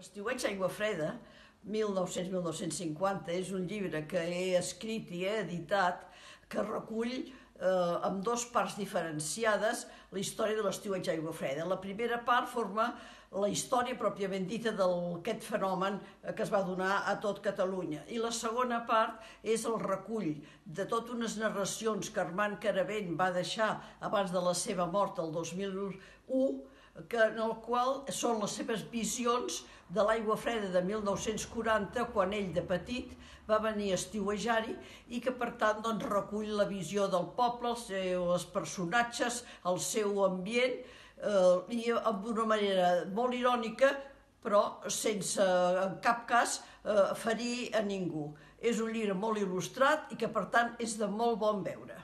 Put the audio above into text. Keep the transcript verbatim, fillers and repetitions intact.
L'Estiueig Aigua Freda, mil nou-cents a mil nou-cents cinquanta, és un llibre que he escrit i he editat que recull eh, amb dos parts diferenciades la història de l'Estiueig Aigua Freda. La primera part forma la història pròpiament dita d'aquest fenomen que es va donar a tot Catalunya. I la segona part és el recull de totes unes narracions que Armand Caravent va deixar abans de la seva mort el dos mil u, que, en el qual són les seves visions de l'Aigua Freda de mil nou-cents quaranta, quan ell de petit va venir a estiuejar-hi i que per tant doncs, recull la visió del poble, els seus personatges, el seu ambient eh, i amb una manera molt irònica però sense en cap cas eh, ferir a ningú. És un llibre molt il·lustrat i que per tant és de molt bon veure.